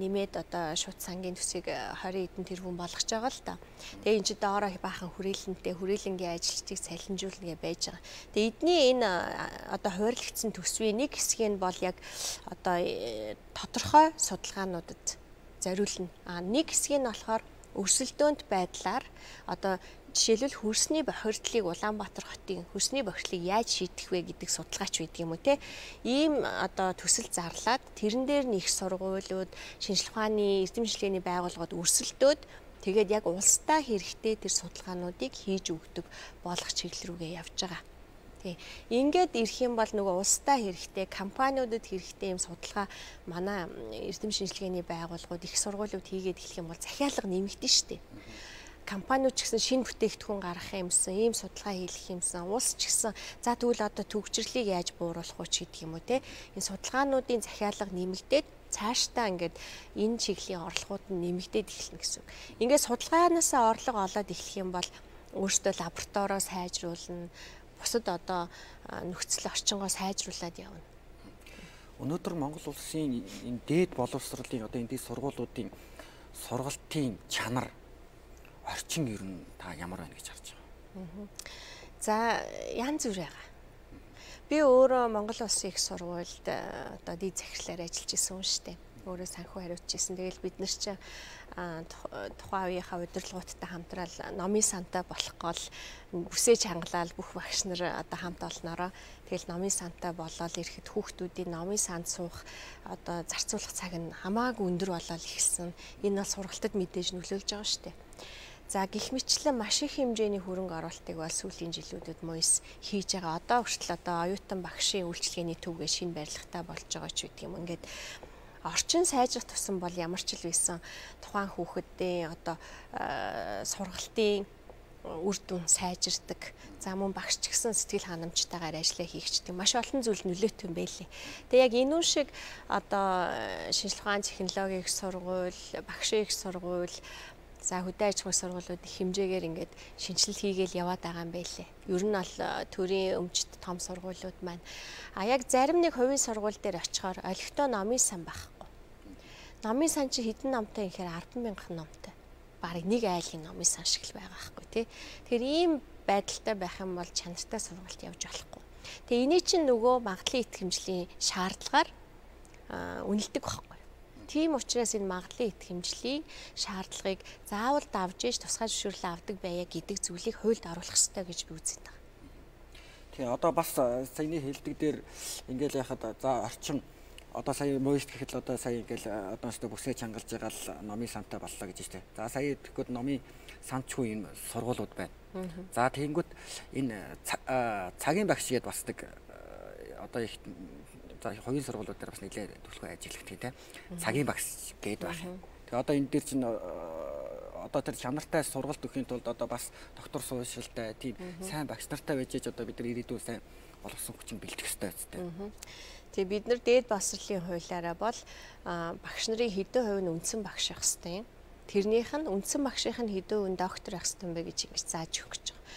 нэмээд одоо шууд сангийн төсвийг 20 хэдэн тэрбум болгож байгаа л да. Тэгээ энэ ч доороо баахан хүрээлэнтэй хүрээлэнгийн ажилчдыг салхинжуулна гэж байж байгаа. Тэгээ эдний энэ одоо хуваарлагдсан төсвийн нэг хэсэг нь бол яг одоо тодорхой судалгаануудад зориулна. Нэг хэсэг нь болохоор өрсөлдөөнт байдлаар одоо жишээлбэл хөрсний бохирдлыг Улаанбаатар хотын хөрсний бохирдлыг яаж шийдэх вэ гэдэг судалгаач байдаг юм уу те. Ийм одоо төсөл зарлаад тэрэн дээр нь их сургуулиуд, шинжилгээ ухааны эрдэм шинжилгээний байгууллагууд өрсөлдөөд тэгээд яг улстай хэрэгтэй тэр судалгаануудыг хийж өгдөг болгох чиглэл рүүгээ явж байгаа. Тий. Ингээд ирэх юм бол нөгөө улстай хэрэгтэй, компаниудад хэрэгтэй юм судалгаа манай эрдэм шинжилгээний байгууллагууд их сургуулиуд хийгээд эхлэх юм бол захиалга нэмэгдэн штэ. Компаниуд ч гэсэн шинэ бүтээгдэхүүн гаргах юмсан, ийм судалгаа хийх юмсан, улс ч гэсэн за тэгвэл одоо төгжрлийг яаж бууруулах уу ч гэдэг юм уу те. Энэ судалгаануудын захиалга нэмэгдээд цаашдаа ингээд энэ чиглэлийн орлогууд нь нэмэгдээд эхэлнэ гэсэн үг. Ингээд судалгаанаасаа орлого олоод эхлэх юм бол өөртөө лабораторио сайжруулна, бусад одоо нөхцөл орчингоо сайжруулад явна. Өнөөдөр Монгол улсын энэ дээд боловсролын одоо энэ дээд сургуулиудын сургалтын чанар орчин ер нь та ямар байна гэж харж байгаа. За янз бүр байгаа. Би өөрөө Монгол Улсын их сургуульд одоо дээд захирлаар ажиллаж исэн юм шүү дээ. Өөрөө санхүү хариуцж исэн. Тэгэл бид нар чинь тухайн үеийнхаа удирдлагуудтай хамтрал номын сантай болох гол бүсэж хангалал бүх багш нар одоо хамт олноороо тэгэл номын сантай болоод ирэхэд хүүхдүүдийн номын санд суух одоо зарцуулах цаг нь хамаагүй өндөр болоод эхэлсэн. Энэ бол сургалтад мэдээж нөлөөлж байгаа шүү дээ. За гэх мэтчлэн маш их хэмжээний хөрөнгө оруулалтыг бол сүүлийн жилүүдэд МОИС хийж байгаа. Одоо хүртэл одоо оюутан багшийн үйлчилгээний төвгээ шинэ барилгатай болж байгаа ч үгүй юм. Ингээд орчин сайжрах тусам бол ямар ч л байсан тухайн хүүхэдийн одоо сургалтын үр дүн сайжирдаг. За мөн багш ч гэсэн сэтгэл ханамжтайгаар ажиллаа хийгчдэг. Маш олон зүйл нөлөөтэй юм байлээ. Тэгээ яг энэ үн шиг одоо шинжилгээ ухааны технологийн их сургууль, багшийн их сургууль, за хөдөө аж ахуйн сургуулиуд их хэмжээгээр ингээд шинжилэл хийгээл яваад байгаа юм байлээ. Ер нь бол төрийн өмчт том сургуулиуд маань яг зарим нэг хувийн сургууль дээр очихоор олигтой номын сан байхгүй. Номын сан чи хэдэн номтой юм гэхээр 10,000 номтой. Бараг нэг айлын номын сан шиг л байгаа байхгүй тий. Тэгэхээр ийм байдалтай байх юм бол чанартай сургалт явж болохгүй. Тэгээ эний чинь нөгөө магадлалын итгэмжлийн шаардлагаар үнэлдэг байхгүй. Тийм учраас энэ магадлалын итгэмжлийн шаардлагыг заавал давж ээж тусгай зөвшөөрлөө авдаг байя гэдэг зүйлийг хуульд оруулах хэрэгтэй гэж би үздэг байна. Тэгээ одоо бас саяны хэлдэг дээр ингээл яхад за орчин одоо сая МОИС гэхэд л одоо сая ингээл одоостой бүсээ чангалж байгаа л номын сантай боллоо гэж байна. За сая тэгэхэд номын санчгүй энэ сургуулиуд байна. За тэгэнгүүт энэ цагийн багш гээд басдаг одоо их за хувийн сургуулиуд дээр бас нэлээд төлхөө ажилладаг тийм цагийн багш гээд байна. Тэгээ одоо энэ дээр чинь одоо тэр чанартай сургалт өгөхийн тулд одоо бас доктор суурьшилтай тийм сайн багш нартай байж одоо бид нар ирээдүйн сайн боловсон хүчин бэлтгэх хэрэгтэй үстэй. Тэгээ бид нар дээд боловсролын хуулиараа бол багш нарын хэдэн хувь нь үндсэн багш байх хэрэгтэй юм. Тэрнийх нь үндсэн багшийнх нь хэдэн хувь нь доктор байх хэрэгтэй юм бэ гэж ингэж зааж өгөх гэж байгаа.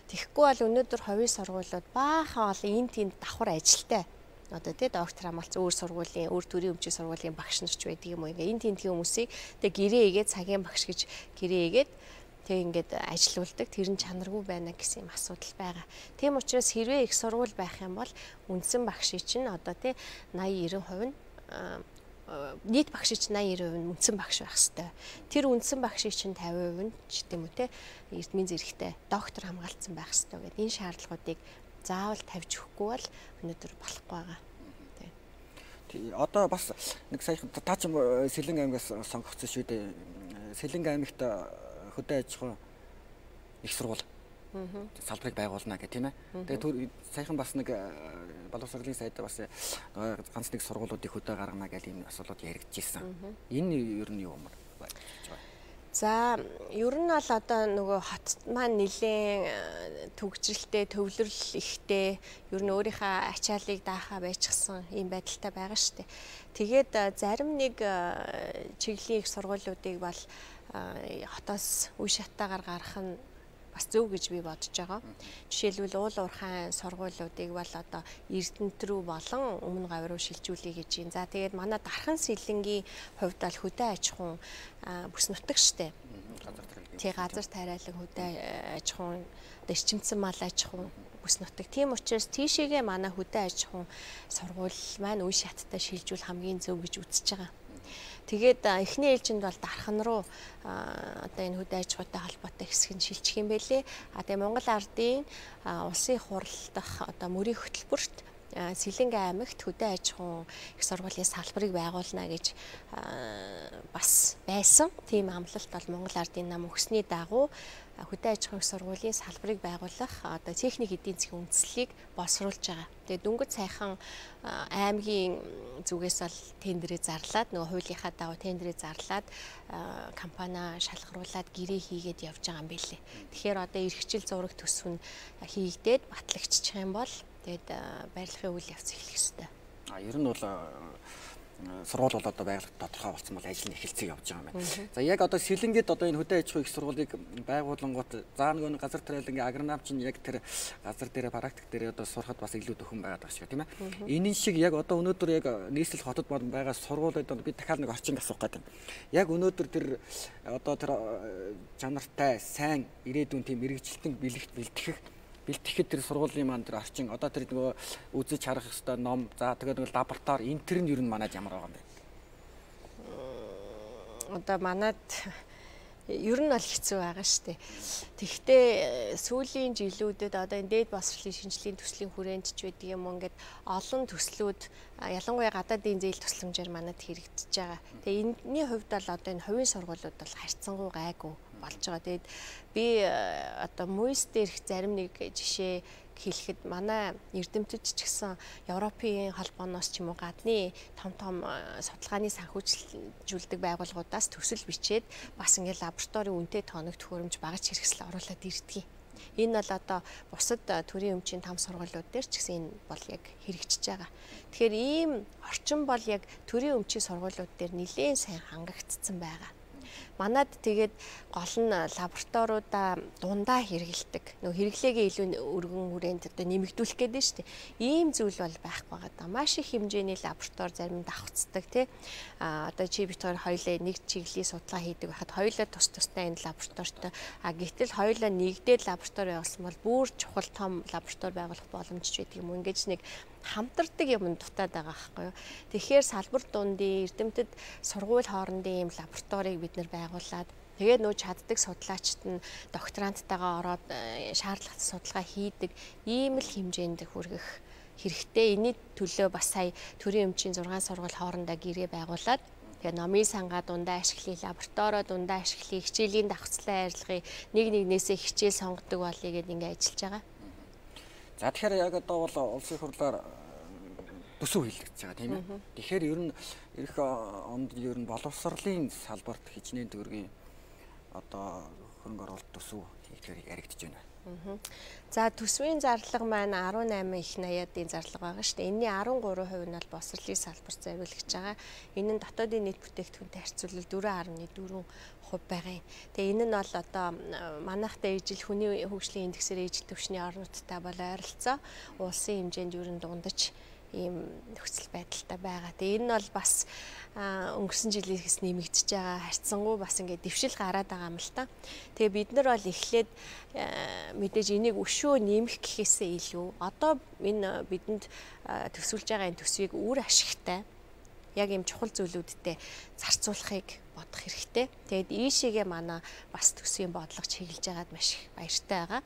Тэгэхгүй бол өнөөдөр хувийн сургуулиуд баахан олон энэ тэнд давхар ажилтай одоо тий доктор хамгаалц өөр сургуулийн өөр төрийн өмчийн сургуулийн багш нарч байдаг юм уу ингээ энэ тентгийн хүмүүсийг тэгээ гэрээ игээд цагийн багш гэж гэрээ игээд тэг ингээд ажилуулдаг тэр нь чанаргүй байна гэсэн юм асуудал байгаа. Тийм учраас хэрвээ их сургууль байх юм бол үндсэн багшийн чинь одоо тий 80-90% нь нийт багшийн чинь 80-90% нь үндсэн багш байх хэвээр. Тэр үндсэн багшийн чинь 50% нь ч гэдэм үү тий эрдмийн зэрэгтэй доктор хамгаалцсан байх хэвээр гэдэг энэ шаардлагуудыг заавал тавьж өгөхгүй бол өнөөдөр болохгүй байгаа. Одоо бас нэг саяхан та ч Сэлэн аймгаас сонгогдсон шүү дээ. Сэлэн аймагт хөдөө аж ахуйн их сургууль салбарыг байгуулна гэх тийм ээ. Тэгээ саяхан бас нэг боловсролын сайд бас ганц нэг сургуулиудыг хөдөө гаргана гэх ийм асуулууд яригдчихсэн. Энэ ер нь юу юм бэ? За ер нь бол одоо нөгөө хот маань нэлээд төгжрэлтэй, төвлөрөл ихтэй, ер нь өөрийнхөө ачааллыг даахаа байчихсан ийм байдалтай байгаа шүү дээ. Тэгээд зарим нэг чиглэлийн их сургуулиудыг бол хотоос үе шатаагаар гаргах нь бас зөв гэж би бодож байгаа. Жишээлбэл уул уурхайн сургуулиудыг бол одоо Эрдэнэт рүү болон Өмнө Говь руу шилжүүлэе гэж юм. За тэгээд манай Дархан Сэлэнгийн хувьд бол хөдөө аж ахуйн бүс нутаг штэ. Тий газар тариалан хөдөө аж ахуйн эрчимцэн мал аж ахуйн бүс нутаг. Тийм учраас тийшээгээ манай хөдөө аж ахуйн сургууль маань үе шаттай шилжүүл хамгийн зөв гэж үзэж байгаа. Тэгээд эхний ээлжинд бол Дархан руу одоо энэ хөдөө аж ахуйтай холбоотой хэсэг нь шилжих юм байлээ. Тэгээ Монгол Ардын улсын хурал дахь одоо мөрийн хөтөлбөрт Сэлэнгэ аймагт хөдөө аж ахуйн их сургуулийн салбарыг байгуулна гэж бас байсан. Тийм амлалт бол Монгол Ардын нам өгсөний дагуу хөдөө аж ахуйн их сургуулийн салбарыг байгуулах одоо техник эдийн засгийн үндэслэлийг боловсруулж байгаа. Тэгээд дөнгөж сайхан аймгийн зүгээс бол тендерээ зарлаад нөгөө хуулийнхаа дагуу тендерээ зарлаад компани шалгаруулад гэрээ хийгээд явж байгаа юм билээ. Тэгэхээр одоо эрхчил зураг төсөв нь хийгдээд батлагдчих юм бол тэгээд барилгын үйл явц эхлэх ёстой. Ер нь бол сургууль бол одоо байгаль тодорхой болсон бол ажил нь эхэлцээ явж байгаа юм байна. За яг одоо Сэлэнгэд одоо энэ хөдөө аж ахуйн их сургуулийг байгуулангууд заа нөгөө газар тариалангийн агроном чинь яг тэр газар дээр практик дээр одоо сурахад бас илүү төхөн байгаад байгаа шүү тийм ээ. Энэ шиг яг одоо өнөөдөр яг нийслэл хотод байгаа сургуулиуд би дахиад нэг орчин асуух гэдэг. Яг өнөөдөр тэр одоо тэр чанартай сайн ирээдүйн тийм мэрэгчлэлтэн бэлтгэхэд тэр сургуулийн маань тэр орчин одоо тэр нөгөө үзэж харах хэвээр ном за тэгээд нөгөө лаборатори энэ төр нь ер нь манайд ямар байгаа юм бэ? Одоо манайд ер нь бол хэцүү байгаа шүү дээ. Тэгэхдээ сүүлийн жилүүдэд одоо энэ дээд боловсролын шинжилгээний төслийн хүрээнд ч байдаг юм ингээд олон төслүүд ялангуяа гадаадын зээл тусламжаар манайд хэрэгжиж байгаа. Тэгээ энэний хувьд бол одоо энэ хувийн сургуулиуд бол харьцангуй гайгүй болж байгаа. Тэгээд би одоо МУИС дээрх зарим нэг жишээ хэлэхэд манай эрдэмтэд ч гэсэн Европын холбооноос ч юм уу гадны том судалгааны санхүүжилдэг байгууллагуудаас төсөл бичээд бас ингээд лабораторийн үнэтэй тоног төхөөрөмж багаж хэрэгсэл оруулаад ирдэг. Энэ бол одоо бусад төрийн өмчийн том сургуулиуд дээр ч гэсэн энэ бол яг хэрэгжиж байгаа. Тэгэхээр ийм орчин бол яг төрийн өмчийн сургуулиуд дээр нэлээд сайн хангагдсан байгаа. Манад тэгээд гол нь лабораториудаа дундаа хэрэгэлдэг. Нөгөө хэрэглээгээ илүү өргөн хүрээнд одоо нэмэгдүүлэх гээд байна шүү дээ. Ийм зүйл бол байхгүй байгаа. Маш их хэмжээний лаборатори зарим давхцдаг тий. Одоо чи бит хоёулаа нэг чиглэлийн судалгаа хийдэг байхад хоёулаа тус тустай энэ лабораторитой. Гэтэл хоёулаа нэгдээд лаборатори явуулсан бол бүр чухал том лаборатори байгуулах боломжч байдаг юм. Ингээд нэг хамтардаг юм дутаад байгаа байхгүй юу. Тэгэхээр салбар дундын эрдэмтэд сургууль хоорондын ийм лабораторийг бид нэр байгуулад тэгээд нөө чаддаг судлаачид нь докторанттайгаа ороод шаардлагатай судалгаа хийдэг ийм л хэмжээнд хүргэх хэрэгтэй. Энэний төлөө бас сая төрийн өмчийн 6 сургууль хоорондоо гэрээ байгуулад тэгээд номын сангаа дундаа ашиглая, лабораторио дундаа ашиглая, хичээлийн давхцлаа арилгая, нэгнээсээ хичээл сонгодог болъё гэдээ ингээд ажиллаж байгаа. За тэгэхээр яг одоо бол улсын хурлаар төсөв хийлгэж байгаа тийм ээ. Тэгэхээр ер нь эх онд ер нь боловсролын салбарт хичнээн төгрөгийн одоо хөрөнгө оруулалт төсөв хийхээр яригдж байна. За төсвийн зарлага маань 18 их 80-ийн зарлага байгаа шүү дээ. Энэний 13% нь бол боловсролын салбарт зориулагдж байгаа. Энэ нь дотоодын нийт бүтээгдэхүүнтэй харьцуулбал 4.4% байгаа юм. Тэгээ энэ нь бол одоо манайхтай ижил хүний хөгжлийн индексээр ижил түвшний орнуудтай бол ойролцоо улсын хэмжээнд ер нь дундаж ийм нөхцөл байдалтай байгаа. Тэгээ энэ нь бол бас өнгөрсөн жилээс нэмэгдэж байгаа харьцангуй бас ингээд дэвшил гараад байгаа юм л та. Тэгээ бид нар бол эхлээд мэдээж энийг өшөө нэмэх гэхээсээ илүү одоо энэ бидэнд төсвөлж байгаа энэ төсвийг үр ашигтай яг ийм чухал зүйлүүдтэй зарцуулахыг бодох хэрэгтэй. Тэгээд ийшээгээ манай бас төсвийн бодлого чиглэж байгаад маш их баяртай байгаа.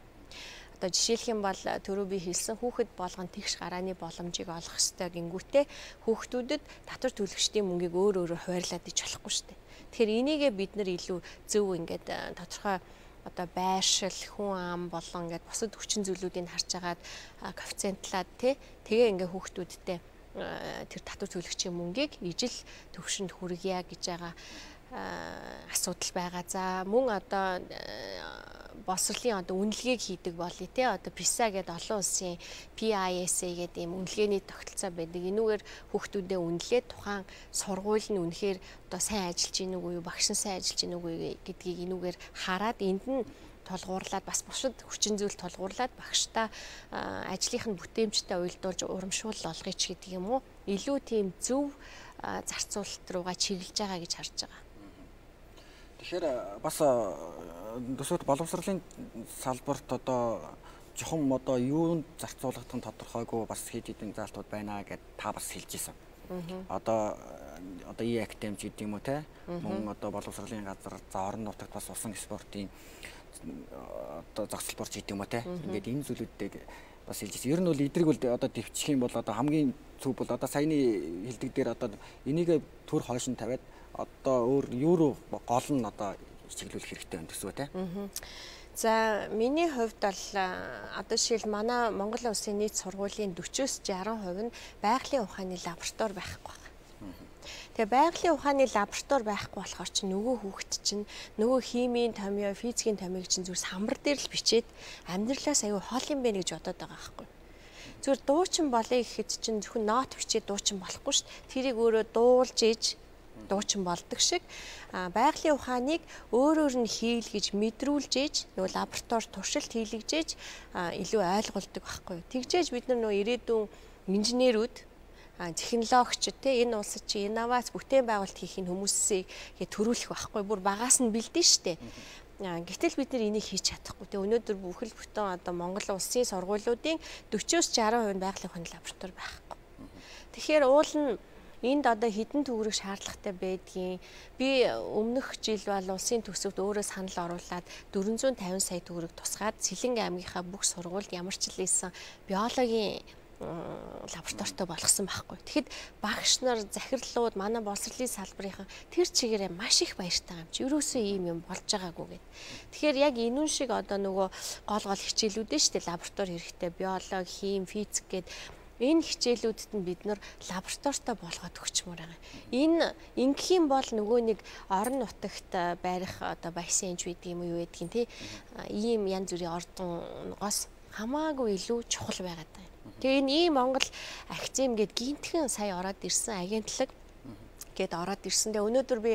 Одоо жишээлх юм бол түрүү би хэлсэн хүүхэд болгон тэгш гарааны боломжийг олох ёстой гингүүтээ хүүхдүүдэд татвар төлөгчдийн мөнгийг өөрөөр хуваарлаад иж болохгүй шүү дээ. Тэгэхээр энийгээ бид нар илүү зөв ингээд тодорхой одоо байршил, хүн ам болон ингээд бусад хүчин зүйлүүдийг харж агаад коэффициентлаад тэгээ ингээд хүүхдүүдтэй тэр татвар төлөгчийн мөнгийг ижил төвшөнд хүргье гэж байгаа асуудал байгаа. За мөн одоо боловсролын одоо үнэлгээг хийдэг болъё те одоо PISA гэдэг олон улсын PISA гэдэг ийм үнэлгээний тогтолцоо байдаг. Энүүгээр хүүхдүүдэд үнэлээд тухайн сургууль нь үнэхээр одоо сайн ажиллаж гин үгүй юу, багш нь сайн ажиллаж гин үгүй юу гэдгийг энүүгээр хараад энд нь толгуурлаад бас бусад хүчин зүйл толгуурлаад багштай ажлынх нь бүтээмжтэй уялдуулж урамшуул олгоё ч гэдэг юм уу. Илүү тийм зөв зарцуулалт руугаа чиглэж байгаа гэж харж байгаа. Тэгэхээр бас төсөвт боловсролын салбарт одоо жохом одоо юунд зарцуулах нь тодорхойгүй бас хэд хэдэн заалтууд байна гэд та бас хэлж ирсэн. Одоо E-Academy гэдэг юм уу те мөн одоо боловсролын газар за орон нутагт бас усан спортын одоо зохицолборч гэдэг юм уу те ингээд энэ зүйлүүдийг бас хэлж байна. Ер нь бол эдрийг бол одоо дэвчих юм бол одоо хамгийн зөв бол одоо саяны хэлдэг дээр одоо энийг төр хойш нь тавиад одоо өөр юу руу гол нь одоо чиглүүлэх хэрэгтэй байна гэсэн үг тийм. За миний хувьд бол одоо жишээл манай Монгол Улсын нийт сургуулийн 40-с 60% нь байгалийн ухааны лаборатори байхгүй байна. Тэгээ байгалийн ухааны лаборатори байхгүй болохоор чинь нөгөө хүүхэд чинь нөгөө химийн томьёо, физикийн томьёог чинь зүгээр самбар дээр л бичээд амьдралаас аюу хол юм бэ гэж бодоод байгаа байхгүй. Зүгээр дуучин болъё гэхэд чинь зөвхөн нот бичээд дуучин болохгүй шүү дээ. Тэрийг өөрөө дуулж иж дуучин болдог шиг байгалийн ухааныг өөрөөр нь хийлгэж мэдрүүлж ээж нөгөө лаборатори туршилт хийлгэж илүү ойлгуулдаг байхгүй. Тэгжээж бид нар нөгөө ирээдүйн инженерүүд технологич те энэ улсад чи инновац бүтээн байгуулалт хийх хүмүүсийг төрүүлэх байхгүй. Бүр багаас нь бэлдэн штэ. Гэтэл бид нар энийг хийж чадахгүй. Тэгээ өнөөдөр бүхэл бүтэн одоо Монгол улсын сургуулиудын 40-с 60% нь байгалийн ухааны лаборатори байхгүй. Тэгэхээр уул нь энд одоо хэдэн төгрөг шаардлагатай байдгийг би өмнөх жил бол улсын төсөвт өөрөө санал оруулаад 450 сая төгрөг тусгаад Сэлэнг аймгийнхаа бүх сургуульд ямар ч л ийсэн биологийн лабораторитой болгосон байхгүй. Тэгэхэд багш нар захирлууд манай боловсролын салбарынхан тэр чигээрээ маш их баяртай юм чи. Ерөөсөө ийм юм болж байгаагүй гэд. Тэгэхээр яг энүүн шиг одоо нөгөө гол хичээлүүд нь шүү дээ лаборатори хэрэгтэй биологи, хим, физик гэд энэ хичээлүүдэд нь бид нар лабораторитой болгоод өгчмөр байгаа. Энэ ингэх юм бол нөгөө нэг орон нутагт барих одоо бассейнч байдаг юм уу юу гэдгийг тий ийм янз бүрийн ордонгоос хамаагүй илүү чухал байгаад байна. Тэгээ энэ ийм Монгол академи гээд гинтхэн сая ороод ирсэн агентлаг гээд ороод ирсэн. Тэгээ өнөөдөр би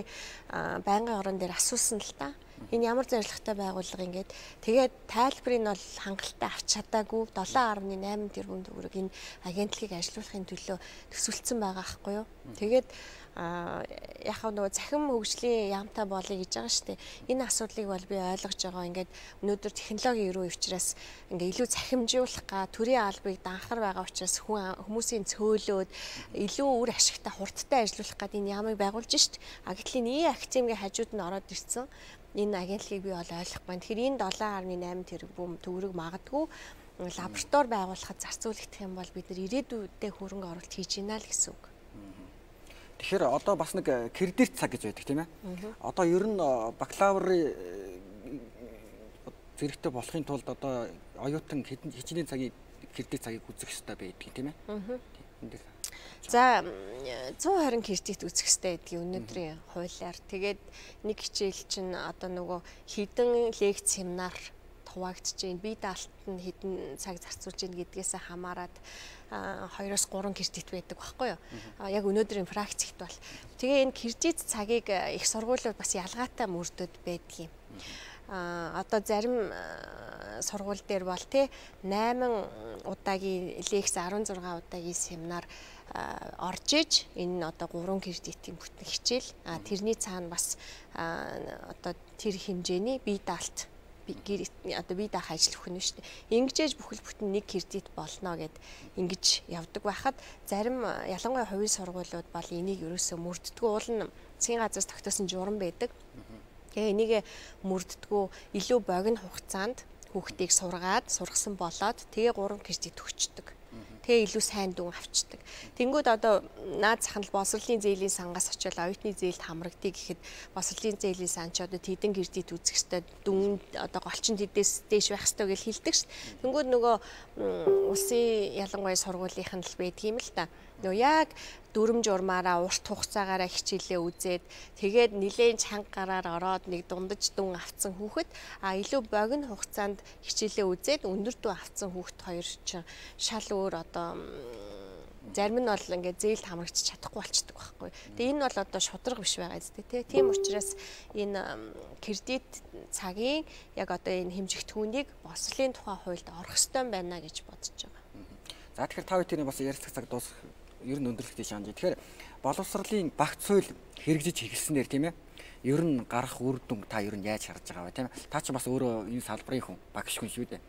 байнгын орон дээр асуусан л та. Энэ ямар зорилготой байгууллага ингээд тэгээд тайлбарыг нь бол хангалттай авч чадаагүй 7.8 тэрбум төгрөг энэ агентлагийг ажилуулахын төлөө төсвөлдсөн байгаа байхгүй юу. Тэгээд яг нөгөө захин хөгжлийн яамтай болъё гэж байгаа шүү дээ. Энэ асуудлыг бол би ойлгож байгаа. Ингээд өнөөдөр технологийн өрөө учраас ингээ илүү захимжуулах га төрийн албыг данхар байгаа учраас хүмүүсийн цөөлөөд илүү үр ашигтай хурдтай ажиллах гад энэ яамыг байгуулж шít. Гэтэл энэ академийн хажууд нь ороод ирсэн. Энэ агентлагийг би бол ойлгох байна. Тэгэхээр энэ 7.8 тэрбум төгрөг магадгүй лаборатори байгуулахад зарцуулагдах юм бол бид нар ирээдүйдээ хөрөнгө оруулалт хийж гинэ л гэсэн үг. Тэгэхээр одоо бас нэг кредит цаг гэж байдаг тийм ээ. Одоо ер нь бакалаврын зэрэгтэй болохын тулд одоо оюутан хичнээн цагийн кредит цагийг үзэх хэрэгтэй байдаг тийм ээ. За 120 кредит үзэх хэрэгтэй гэдгийг өнөөдрийн хуулиар. Тэгээд нэг хичээл чинь одоо нөгөө хідэн лекц семинар хуваагдж байна. Бие даалт нь хэдэн цаг зарцуулж байна гэдгээс хамаарат 2-3 кредит байдаг байхгүй юу? Яг өнөөдрийн практикт бол. Тэгээ энэ кредит цагийг их сургуулиуд бас ялгаатай мөрдөд байдгийг. Одоо зарим сургууль дээр бол тий 8 удаагийн лекц 16 удаагийн семинар орж иж энэ нь одоо 3 кредитийн бүтэн хичээл. Тэрний цаана бас одоо тэр хэмжээний бие даалт одоо бие даах ажил өгнө шүү дээ. Ингэжээж бүхэл бүтэн нэг кредит болно гэд ингэж явдаг байхад зарим ялангуяа хувийн сургуулиуд бол энийг ерөөсөө мөрддгүү уул нь засгийн газраас тогтоосон журам байдаг. Тэгээ энийг мөрддгүү илүү богино хугацаанд хүүхдийг сургасан болоод тэгээ 3 кредит өгчдөг. Тэгээ илүү сайн дүн авчдаг. Тэнгүүд одоо наад захын боловсролын зээлийн сангаас очиод оюутны зээлд хамрагдъя гэхэд боловсролын зээлийн сан ч одоо тэдэн кредит үзэх ёстой дүн одоо голчин тэдээс дээш байх ёстой гэж хэлдэг ш. Тэнгүүд нөгөө улсын ялангуяа сургуулийнх нь л байдаг юм л та. Нөгөө яг дүрм журмаараа урт хугацаагаараа хичээлээ үзээд тэгээд нилээн чанга гараар ороод нэг дундаж дүн авцсан хүүхэд илүү богино хугацаанд хичээлээ үзээд өндөр дүн авцсан хүүхэд хоёр чинь шал өөр одоо зарим нь бол ингээд зээлд хамрагдчих чадахгүй болчдөг байхгүй. Тэгээ энэ бол одоо шудраг биш байгаа зү тэ. Тийм учраас энэ кредит цагийн яг одоо энэ хэмжигдэхүүнийг боловсролын тухай хуульд орох ёстой байна гэж бодож байгаа. За тэгэхээр та бүхэн бас ярилцах цаг дуусах ер нь өндөрлөлтөй шаанж. Тэгэхээр боловсролын багц хууль хэрэгжиж эхэлснээр тийм ээ. Ер нь гарах үр дүн та ер нь яаж харж байгаа вэ тийм ээ. Та ч бас өөрөө энэ салбарын хүн, багш хүн шүү дээ.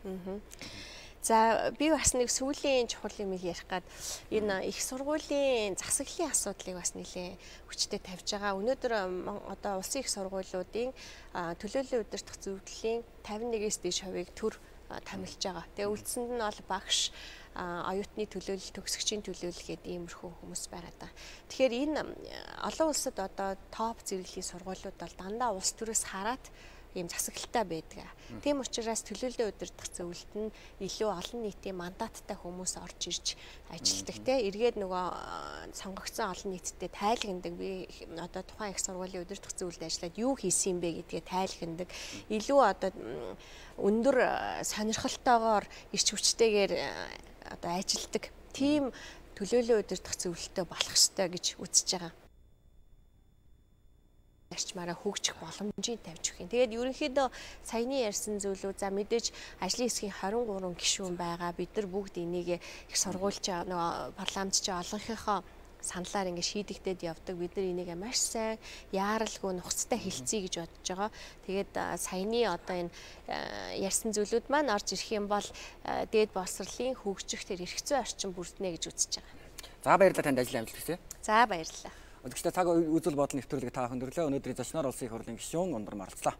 За би бас нэг сүүлийн чухал юм ярих гад энэ их сургуулийн засаглалын асуудлыг бас нэлээд хүчтэй тавьж байгаа. Өнөөдөр одоо улсын их сургуулиудын төлөөллийн удирдах зөвлөлийн 51-ээс дээш хувийг төр томилж байгаа. Тэгээ үлдсэнд нь бол багш, оюутны төлөөлөл, төгсөгчийн төлөөлөл гэдэг иймэрхүү хүмүүс байгаад байгаа. Тэгэхээр энэ олон улсад одоо топ зэрэглэлийн сургуулиуд бол дандаа улс төрөөс хараад ийм засаглалтай байдаг. Тийм учраас төлөөлөлөө удирдах зөвлөлт нь илүү олон нийтийн мандаттай хүмүүс орж ирж ажилладаг те. Эргээд нөгөө сонгогдсон олон нийттэй тайлгнадаг. Би одоо тухайн их сургуулийн удирдах зөвлөлд ажиллаад юу хийсэн юм бэ гэдгээ тайлгнадаг. Илүү одоо өндөр сонирхолтойгоор ирч хүчтэйгээр одоо ажилладаг. Тийм төлөөлөлөө удирдах зөвлөлтөй болох ёстой гэж үзэж байгаа. Арчмаараа хөгжих боломжийг тавьж өгөх юм. Тэгээд ерөнхийдөө саяны ярьсан зүйлүүд за мэдээж ажлын хэсгийн 23 гишүүн байгаа. Бид нар бүгд энийг их сургуульч нөгөө парламентч олонхийнхоо саналаар ингэ шийдэгдээд явдаг. Бид нар энийг маш сайн яаралгүй нухацтай хэлцээ гэж бодож байгаа. Тэгээд саяны одоо энэ ярьсан зүйлүүд маань орж ирэх юм бол дээд боловсролын хөгжих тэр эрх зүйн орчин бүрднэ гэж үзэж байгаа. За баярлалаа танд ажил амжилт хүсье. За баярлалаа. Өдөртөө цаг үзэл бодол нэвтрүүлэг та бүхэн өрлөө. Өнөөдрийн зочноор улсын их хурлын гишүүн Ундар Маралцлаа.